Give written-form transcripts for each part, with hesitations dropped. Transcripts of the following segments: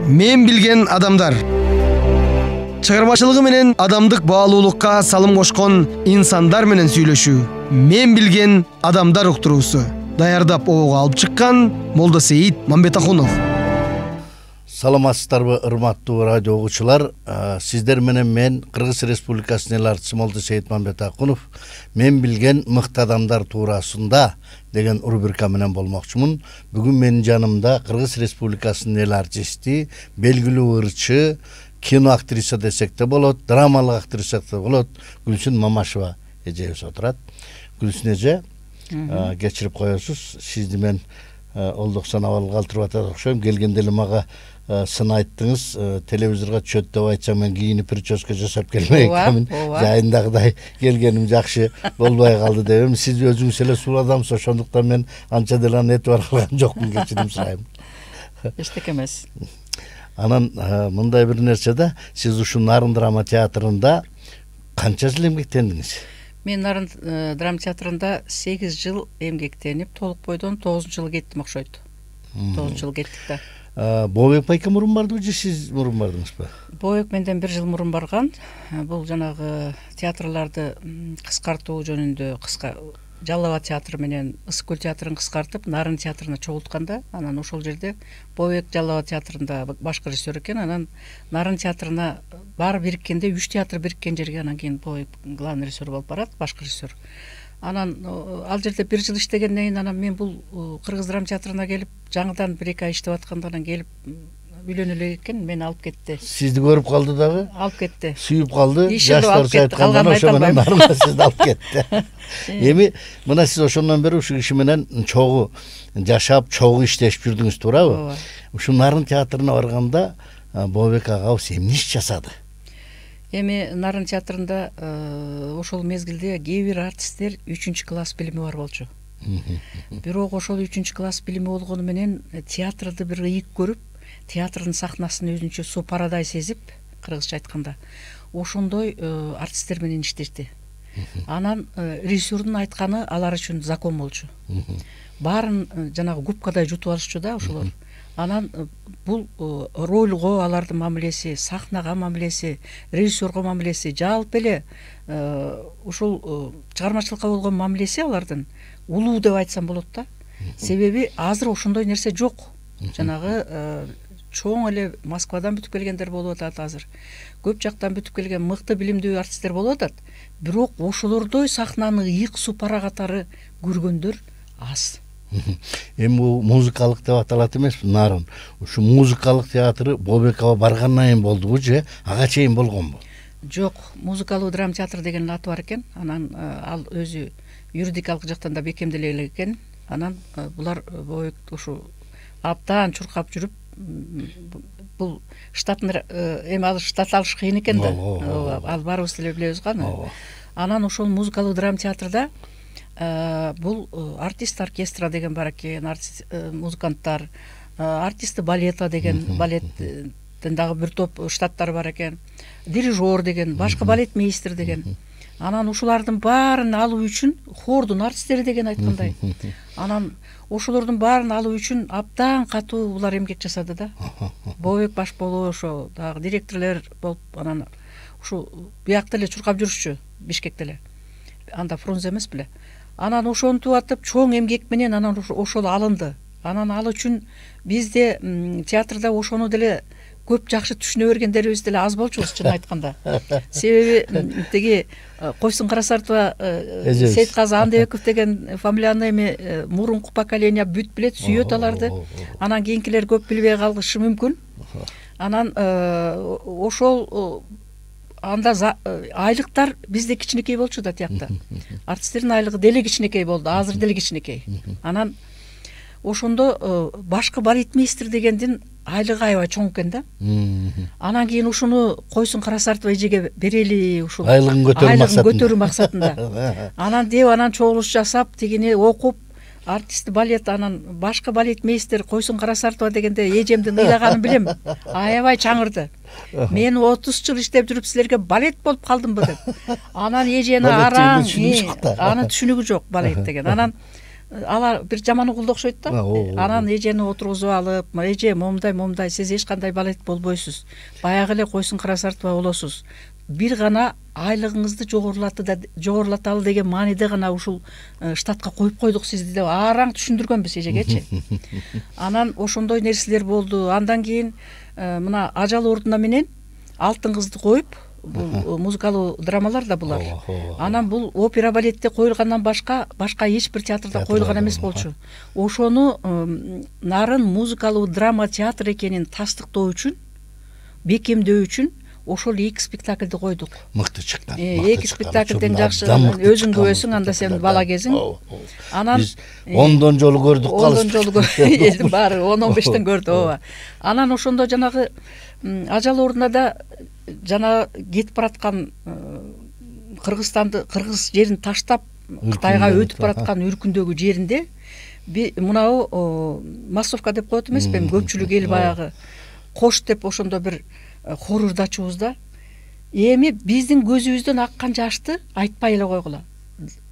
Мен билген адамдар. Чыгармачылыгы менен адамдык баалуулукка салым кошкон инсандар менен сүйлөшүү. Мен билген адамдар уктуруусу. Даярдап обого алып чыккан Молдосейит Мамбетахунов. Саламатсыздарбы, урматтуу радио угуучулар. Сиздер менен мен Кыргыз Республикасынын эл артчысы Молдосейит Мамбетахунов мен билген мыкты адамдар туурасында деген рубрика менен болмокчумун. Бүгүн менин жанымда Кыргыз Республикасынын эл артисти, белгилүү ырчы, кино актриса десек де болот, драмалык актриса да болот, Гүлсүн Мамашева эжебиз отурат. Гүлсүн эже, кечирип коесуз, сизди мен олдоксон абал калтырып атат окшойм. Келгенде эле мага сын айттыңыз, телевизорго түшөт деп айтсам мен кийинип прическа жасап келмей экенмин. Жайындагыдай келгеним жакшы болбой калды деп. Сиз өзүңүз эле сулуу адамсыз, ошондуктан мен анча деле аны этибар кылган жокмун, кечирим сурайм. Эчтеке эмес. Анан мындай бир нерсе да, сиз ушул Нарын драма театрында канча жыл эмгектендиңиз? Мен Нарын драма театрында 8 жыл эмгектенип, толук бойдон 9-жыл кеттим окшойт. 9 жыл кеттик да. Бообек байке мурун бардыбы же сиз мурун бардыңызбы? Бообек менден 1 жыл мурун барган. Бул жанагы театрларды кыскартуу жөнүндө Жалал Абад театры менен Ысык көл театрын кыскартып, Нарын театрына чогултканда, анан ошол жерде Бообек Жалал Абад театрында башкы режиссер экен, анан Нарын театрына баары бириккенде 3 театр бириккен жерге анан кийин Бообек главный режиссер болуп барат, башкы режиссер. Анан ал жерде 1 жыл иштегенден кийин анан мен бул Кыргыз драма театрына келип, жаңыдан 1-2 ай иштеп атканда анан келип үйлөнө элек экен, мени алып кетти. Сизди көрүп калды дагы? Алып кетти. Сүйүп калды. Жаштарча айтканда ошо менен Нарын сизди алып кетти. Эми мына сиз ошондон бери ушул киши менен чогуу жашап, чогуу иштешип жүрдүңүз, туурабы? Ушул Нарын театрына барганда Бообек агабыз эмне иш жасады? Эми Нарын театрында ошол мезгилде кээ бир артисттер 3-класс билими бар болчу. Бирок ошол 3-класс билими болгону менен театрды бир ыйык көрүп, театрдын сахнасын өзүнчө супарадай сезип, кыргызча айтканда, ошондой артисттер менен иштешти. Анан режиссердун айтканы алар үчүн закон болчу. Баарын жанагы губкадай жутуп алышчу да ошолор. Анан бул ролго алардын мамилеси, сахнага мамилеси, режиссерго мамилеси, жалпы эле ушул чыгармачылыкка болгон мамилеси алардын улуу деп айтсам болот да. Себеби азыр ошондой нерсе жок. Жанагы чоң эле Москвадан бүтүп келгендер болуп атат азыр. Көп жактан бүтүп келген мыкты билимдүү артисттер болуп атат. Бирок ошолордой сахнаны ыйык супара катары көргөндөр аз. Эми бул музыкалык деп аталат эмеспи, Нарын? Ушу музыкалык театры Бообек аба баргандан кийин болдубу же ага чейин болгонбу? Жок, музыкалуу драма театр деген аты бар экен. Анан ал өзү юридикалык жактан да бекемделе элек экен. Анан булар Бообек ушу абдан чуркап жүрүп, бул штатын эми ал штат алыш кыйын экен да. Ал баарыбыз деле билебиз го аны. Анан ошол музыкалуу драма театрда бул артист оркестра деген бар экен, музыканттар, артисты балета деген, балеттин дагы бир топ штаттары бар экен, дирижер деген, башкы балетмейстер деген. Анан ушулардын баарын алуу үчүн хордун артисттери деген айткандай. Анан ошолордун баарын алуу үчүн абдан катуу булар эмгек жасады да. Бообек баш болуп, ошо дагы директорлор болуп, анан ушу биякта эле чуркап жүрүшчү, Бишкекте эле. Анда Фрунзе эмес беле. Анан ошентип атып чоң эмгек менен анан ошол алынды. Анан ал үчүн бизде театрда ошону деле көп жакшы түшүнө бергендерибиз деле аз болчубуз, чын айтканда. Себеби тиги Койсун Карасартова, Сейитказы Андебеков деген фамилияны эми мурунку поколение бүт билет, сүйөт аларды. Анан кийинкилер көп билбей калышы мүмкүн. Анан ошол анда айлыктар бизде кичинекей болчу да тиякта. Артисттердин айлыгы деле кичинекей болду, азыр деле кичинекей. Анан ошондо башкы балетмейстер дегендин айлыгы аябай чоң экен да. Анан кийин ушуну Койсун Карасартова эжеге берели, ушул айлыгын көтөрүү максатында. Анан деп анан чогулуш жасап, тигини окуп, артисти балет, анан башкы балетмейстер Койсун Карасартова дегенде эжемдин ыйлаганын билем. Аябай чаңырды. Мен 30 жыл иштеп жүрүп силерге балет болуп калдымбы деп. Анан эжени араң, анын түшүнүгү жок балет деген. Анан алар бир жаман угулду окшойт да. Анан эжени отургузуп алып, эже момундай сиз эч кандай балет болбойсуз. Баягы эле койсун карасартпай болосуз. Бир гана айлыгыңызды жогорулаталы деген мааниде гана ушул штатка коюп койдук сизди деп араң түшүндүргөнбүз эжегечи. Анан ошондой нерселер болду. Андан кийин мына ажал ордуна менен алтын кызды коюп, бул музыкалуу драмалар да булар. Анан бул опера балетте коюлгандан башка эч бир театрда коюлган эмес болчу. Ошону нарын музыкалуу драма театр экенин тастыктоо үчүн, бекемдөө үчүн ошол 2 спектакльди койдук. Мыкты чыккан. 2 спектакльден жакшы өзүң күбөсүң, анда сен бала кезиң. Анан биз 10 жолу көрдүк калып. 10 жолу көрдүк. Баары 10-15тен көрдү, ооба. Анан ошондо жанагы ажал ордуна да жана кетип бараткан кыргыз жерин таштап Кытайга өтүп бараткан үркүндөгү жеринде мынау массовка деп коет эмеспи, көпчүлүк эл баягы кош деп ошондо бир хор ырдачубуз да. Эми биздин көзүбүздөн аккан жашты айтпай эле койгула.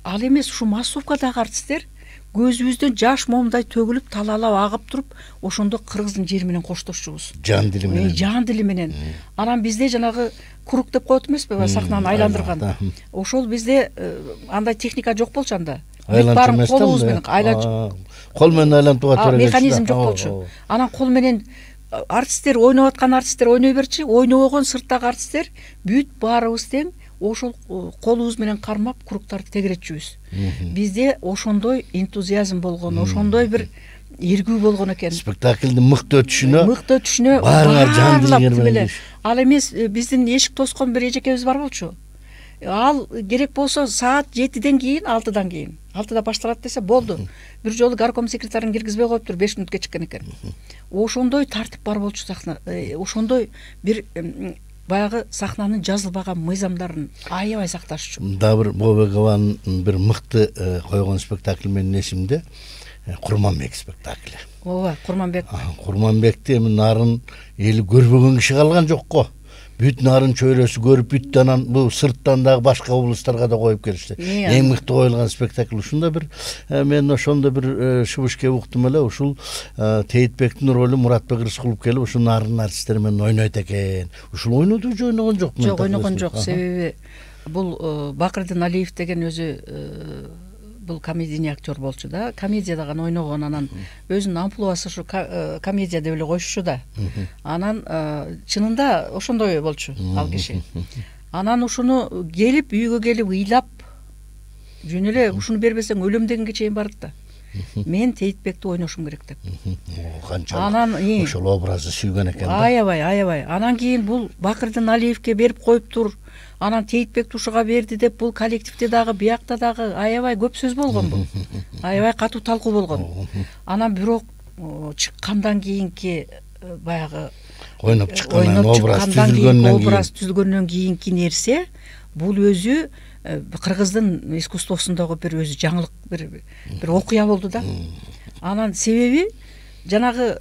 Ал эмес, ушу массовкадагы артисттер көзүбүздөн жаш момундай төгүлүп, талаалап агып туруп, ошондо кыргыздын жери менен коштошчубуз. Жан дили менен. Жан дили менен. Анан бизде жанагы круг деп коет эмеспи, сахнаны айландырган. Ошол бизде андай техника жок болчу анда. Баарын колубуз менен кол менен айлантууга туура келчү. Механизм жок болчу. Анан кол менен артисттер ойноп аткан артисттер ойной берчи, ойнобогон сырттагы артисттер бүт баарыбыз тең ошол колубуз менен кармап кругтарды тегеретчүбүз. Бизде ошондой энтузиазм болгон, ошондой бир эргүү болгон экен. Спектаклдин мыкты өтүшүнө баарыңар жан дилиңер менен. Ал эмес, биздин эшик тоскон бир эжекебиз бар болчу. Ал керек болсо саат 7ден кийин, 6дан кийин. 6да башталат десе болду. Бир жолу горком секретарын киргизбей коюптур, 5 мүнөткө чыккан экен. Ошондой тартип бар болчу сахна. Ошондой бир баягы сахнанын жазылбаган мыйзамдарын аябай сакташчу. Дагы бир Бобекованын бир мыкты койгон спектакль менин эсимде Курманбек спектакли. Ооба, Курманбек. Курманбекти эми нарын эли көрбөгөн киши калган жок го. Бүт нарын чөйрөсү көрүп, бүт анан бул сырттан дагы башка облусттарга да коюп келишти. Эң мыкты коюлган спектакль ушунда бир мен ошондо бир шыбышке уктум эле, ушул Тейтбектин ролу Муратбек Рыскулов келип ушул нарын артисттери менен ойнойт экен. Ушул ойноду же ойногон жокмун? Жок, ойногон жок. Себеби бул Бакырдын Алиев деген өзү бул комедийный актер болчу да. Комедияда гана ойногон, анан өзүнүн амплуасы ушу комедия деп эле коюшчу да. Анан чынында ошондой болчу ал киши. Анан ушуну келип, үйгө келип ыйлап, жөн эле ушуну бербесең өлөм дегенге чейин барды да. Мен Тейтбекти ойношум керек деп. Канчалык ошол образды сүйгөн экен да. Аябай. Анан кийин бул Бакырдын Алиевке берип коюптур. Анан Тейтбекти ушуга берди деп бул коллективде дагы, биякта дагы аябай көп сөз болгон бул. Аябай катуу талкуу болгон. Анан бирок чыккандан кийинки баягы ойноп чыккандан образ түзүлгөндөн кийинки нерсе бул өзү кыргыздын искусствосундагы бир өзү жаңылык, бир окуя болду да. Анан себеби жанагы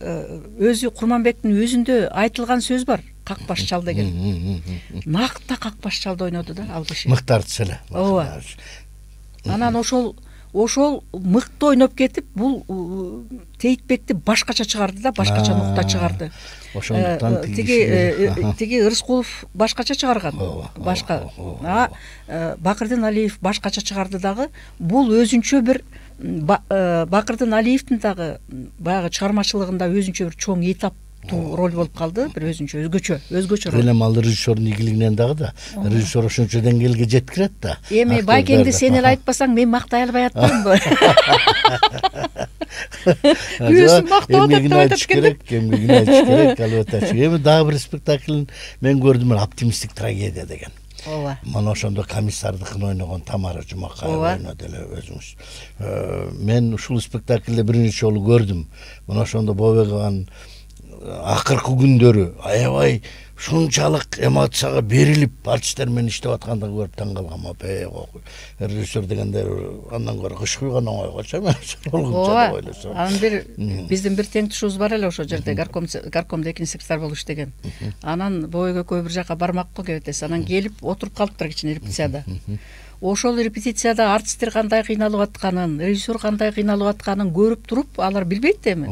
өзү Курманбектин өзүндө айтылган сөз бар. Какпаш чал деген. Накта какпаш чалды ойноду да ал киши. Мыкты артист эле. Ооба. Анан ошол мыкты ойноп кетип, бул Тейтбекти башкача чыгарды да, башкача нукта чыгарды. Ошондуктан тиги Рыскулов башкача чыгарган. Башка. Бакырдын Алиев башкача чыгарды дагы. Бул өзүнчө бир Бакырдын Алиевдин дагы баягы чыгармачылыгында өзүнчө бир чоң этап роль болуп калды, бир өзгөчө роль. Элем ал режиссердун ийгилигинен дагы да. Режиссер ошончо деңгээлге жеткирет да. Эми Байкеңди сен эле айтпасаң мен мактай албай атпаймынбы? Өзүн мактап атат керек. Эмгегин айтыш керек, албетте. Эми дагы бир спектакль мен көрдүм, оптимисттик трагедия деген. Ооба. Мана ошондо комиссардыкын ойногон Тамара Жумакаева ойноду эле өзүңүз. Мен ушул спектаклде биринчи жолу көрдүм. Мына ошондо Бобекованын акыркы күндөрү аябай ушунчалык эмоцияга берилип артисттер менен иштеп аткандыгын көрүп таң калгам. Режиссер дегенде андан көрө кыш куйган оңойгочу эмес. Ооба. Анын бир биздин бир теңдешибиз бар эле ошол жерде горкомдо экинчи секретарь болуп иштеген. Анан бобой экөө бир жака бармакка кебетес. Анан келип отуруп калыптыр кичине репетицияда. Ошол репетицияда артисттер кандай кыйналып атканын, режиссер кандай кыйналып атканын көрүп туруп, алар билбейт да эми.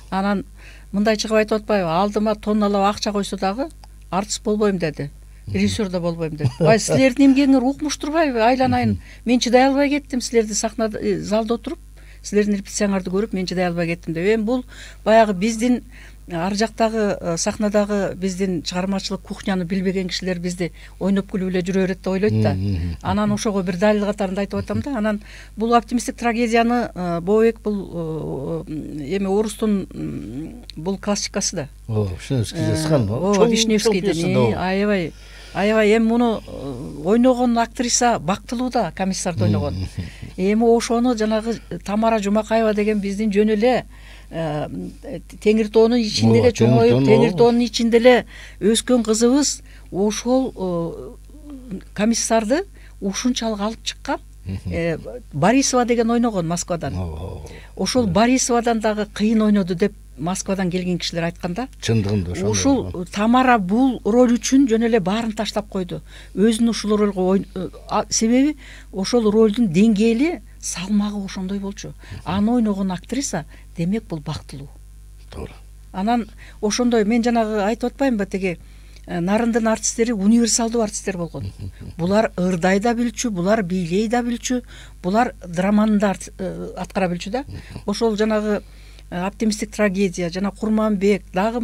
Анан мындай чыгып айтып атпайбы, алдыма тонналап акча койсо дагы артист болбойм деди. Режиссер да болбойм деди. Силердин эмгегиңер укмуш турбайбы? Айланайын. Мен чыдай албай кеттим силерди сахнада, залда отуруп, силердин репетицияңарды көрүп мен чыдай албай кеттим деп. Эми бул баягы биздин ар жактагы сахнадагы биздин чыгармачылык кухняны билбеген кишилер бизди ойноп күлүп эле жүрө берет деп ойлойт да. Анан ошого бир далил катарында айтып атам да. Анан бул оптимисттик трагедияны Бобойбек бул эми орустун бул классикасы да. Вишневский жазган. Вишневскийдин аябай эми муну ойногон актриса бактылуу да, комиссарды ойногон. Эми ошону жанагы Тамара Жумакаева деген биздин жөн эле Теңир тоонун ичинде эле чоңоюп, Теңир тоонун ичинде эле өскөн кызыбыз ошол комиссарды ушунчалык алып чыккан. Борисова деген ойногон Москвадан. Ошол Борисовадан дагы кыйын ойноду деп Москвадан келген кишилер айтканда. Чындыгында ошол. Ушул Тамара бул роль үчүн жөн эле баарын таштап койду. Өзүн ушул ролго себеби ошол ролдун деңгээли, салмагы ошондой болчу. Аны ойногон актриса демек бул бактылуу. Туура. Анан ошондой мен жанагы айтып атпаймынбы, теги нарындын артисттери универсалдуу артисттер болгон. Булар ырдай да билчү, булар бийлей да билчү, булар драманы да аткара билчү да. Ошол жанагы оптимисттик трагедия, жана Курманбек, дагы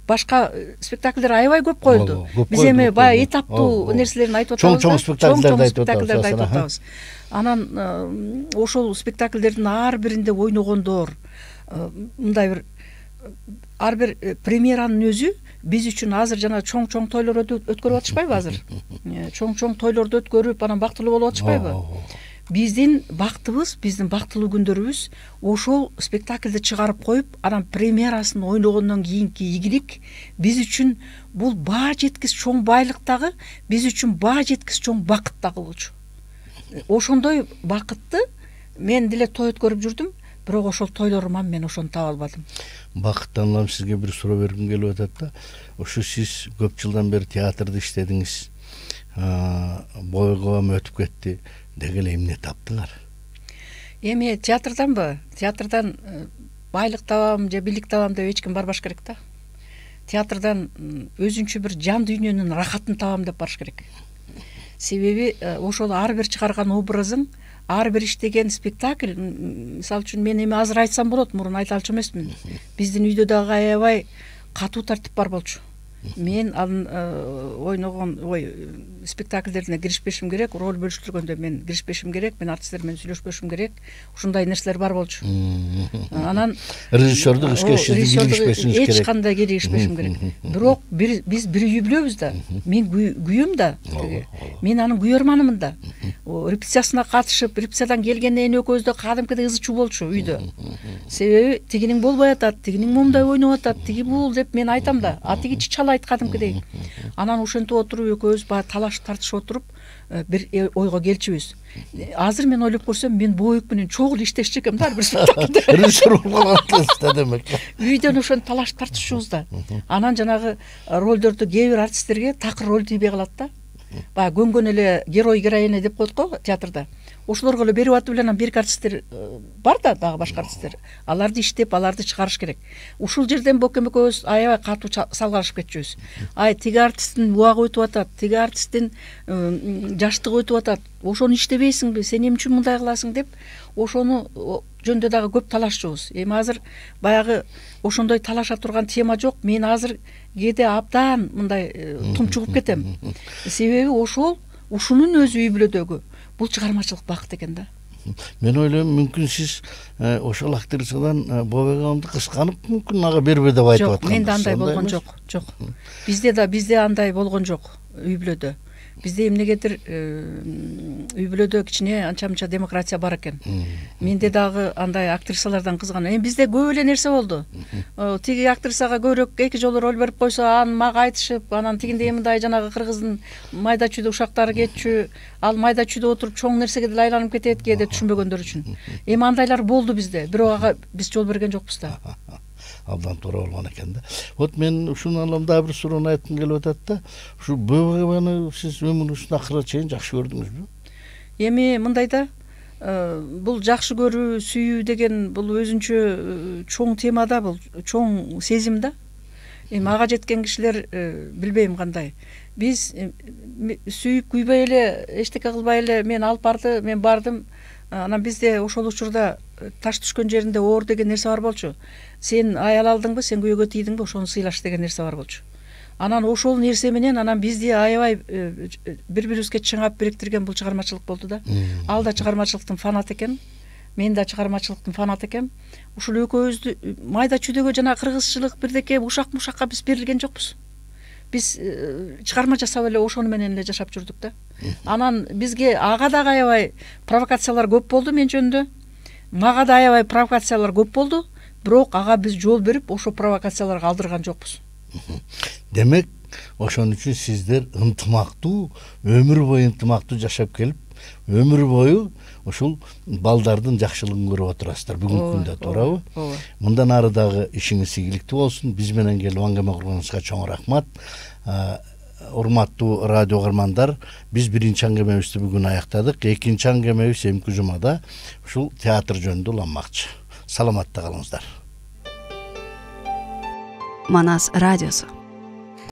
башка спектакльдер аябай көп коюлду. Биз эми баягы этаптуу нерселерин айтып атабыз. Чоң спектакльдерди айтып атабыз. Анан ошол спектакльдердин ар биринде ойногондор мындай бир ар бир премьеранын өзү биз үчүн азыр жана чоң тойлор өткөрүп атышпайбы азыр? Чоң тойлорду өткөрүп, анан бактылуу болуп атышпайбы? Биздин бактыбыз, биздин бактылуу күндөрүбүз ошол спектакльди чыгарып коюп, анан премьерасын ойногондон кийинки ийгилик биз үчүн бул баа жеткис чоң байлык дагы, биз үчүн баа жеткис чоң бакыт дагы болчу. Ошондой бакытты мен деле той өткөрүп жүрдүм, бирок ошол тойлоруман мен ошону таба албадым. Бакыттан улам сизге бир суроо бергим келип атат да. Ошо сиз көп жылдан бери театрда иштедиңиз. Бойгом өтүп кетти. Деги эле эмне таптыңар? Эми театрданбы? Театрдан байлык табам же бийлик табам деп эч ким барбаш керек да. Театрдан өзүнчө бир жан дүйнөнүн рахатын табам деп барыш керек. Себеби ошол ар бир чыгарган образың, ар бир иштеген спектакль, мисалы үчүн мен эми азыр айтсам болот, мурун айта алчу эмесмин. Биздин үйдө дагы аябай катуу тартип бар болчу. Мен анын ойногон спектакльдерине киришпешим керек, роль бөлүштүргөндө мен киришпешим керек, мен артисттер менен сүйлөшпешим керек. Ушундай нерселер бар болчу. Анан режиссердук ишке киришпешим керек. Эч кандай киришпешим керек. Бирок биз бир үй бүлөбүз да. Мен күйөм да. Мен анын күйөрманымын да. Репетициясына катышып, репетициядан келгенден экөөбүз да кадимкидей ызы чуу болчу үйдө. Себеби тигинин болбой атат, тигинин момундай ойноп атат, тиги бул деп мен айтам да. А тиги чалайт кадимкидей. Анан ошентип отуруп экөөбүз баягы талашып тартышып отуруп бир ойго келчүбүз. Азыр мен ойлоп көрсөм, мен Бобойбек менен чогуу иштешчү экенмин да, ар бир спектакльде. Режиссер болуп калган демек. Үйдөн ошентип талашып тартышыбыз да. Анан жанагы ролдорду кээ бир артисттерге такыр роль тийбей калат да. Баягы көнгөн эле герой героиня деп коет го театрда. Ошолорго эле берип атып эле анан бирки артисттер бар да, дагы башка артисттер. Аларды иштеп, аларды чыгарыш керек. Ушул жерден Бокем экөөбүз аябай катуу салгалашып кетчүбүз. Тиги артисттин убагы өтүп атат, тиги артисттин жаштыгы өтүп атат. Ошону иштебейсиңби? Сен эмне үчүн мындай кыласың деп ошону жөнүндө дагы көп талашчубуз. Эми азыр баягы ошондой талаша турган тема жок. Мен азыр кээде абдан мындай тумчугуп кетем. Себеби ушунун өзү үй бүлөдөгү бул чыгармачылык бакыт экен да. Мен ойлойм, мүмкүн сиз ошол актрисадан Бобойбек агамды кысканып, мүмкүн ага бербе деп айтып аткан. Жок, менде андай болгон жок. Жок. Бизде андай болгон жок үй бүлөдө. Бизде эмнегедир үй бүлөдө кичине анча мынча демократия бар экен. Менде дагы андай актрисалардан кызган. Эми бизде көп эле нерсе болду. Тиги актрисага көбүрөөк 2 жолу роль берип койсо, аны мага айтышып, анан тигиндей мындай жанагы кыргыздын майда чүйдө ушактары кетчү, ал майда чүйдө отуруп чоң нерсеге деле айланып кетет кээде түшүнбөгөндөр үчүн. Эми андайлар болду бизде, бирок ага биз жол берген жокпуз да. Абдан туура болгон экен да. Вот мен ушуну алам дагы бир суроону айткым келип атат да. Ушу ББГны сиз өмүрүңүздүн акырына чейин жакшы көрдүңүзбү? Эми мындай да, бул жакшы көрүү, сүйүү деген бул өзүнчө чоң тема да, бул чоң сезим да. Эми ага жеткен кишилер билбейм кандай. Биз сүйүп күйбөй эле, эчтеке кылбай эле мен алып барды, мен бардым. Анан бизде ошол учурда таш түшкөн жеринде оор деген нерсе бар болчу. Сен аял алдыңбы, сен күйөөгө тийдиңби, ошону сыйлаш деген нерсе бар болчу. Анан ошол нерсе менен анан бизди аябай бири-бирибизге чыңап бириктирген бул чыгармачылык болду да. Ал да чыгармачылыктын фанаты экен. Мен да чыгармачылыктын фанаты экем. Ушул экөөбүздү майда чүйдөгө жана кыргызчылык бирдеке ушак-мушакка биз берилген жокпуз. Биз чыгарма жасап эле ошону менен эле жашап жүрдүк да. Анан бизге ага дагы аябай провокациялар көп болду мен жөнүндө. Мага да аябай провокациялар көп болду, бирок ага биз жол берип ошо провокацияларга алдырган жокпуз. Демек, ошон үчүн сиздер ынтымактуу, өмүр бою ынтымактуу жашап келип, өмүр бою ушул балдардын жакшылыгын көрүп отурасыздар бүгүнкү күндө, туурабы? Мындан ары дагы ишиңиз ийгиликтүү болсун. Биз менен келип аңгеме курганыңызга чоң рахмат. Урматтуу радио угармандар, биз биринчи аңгемебизди бүгүн аяктадык. Экинчи аңгемебиз эмки жумада ушул театр жөнүндө уланмакчы. Саламатта калыңыздар. Манас радиосу.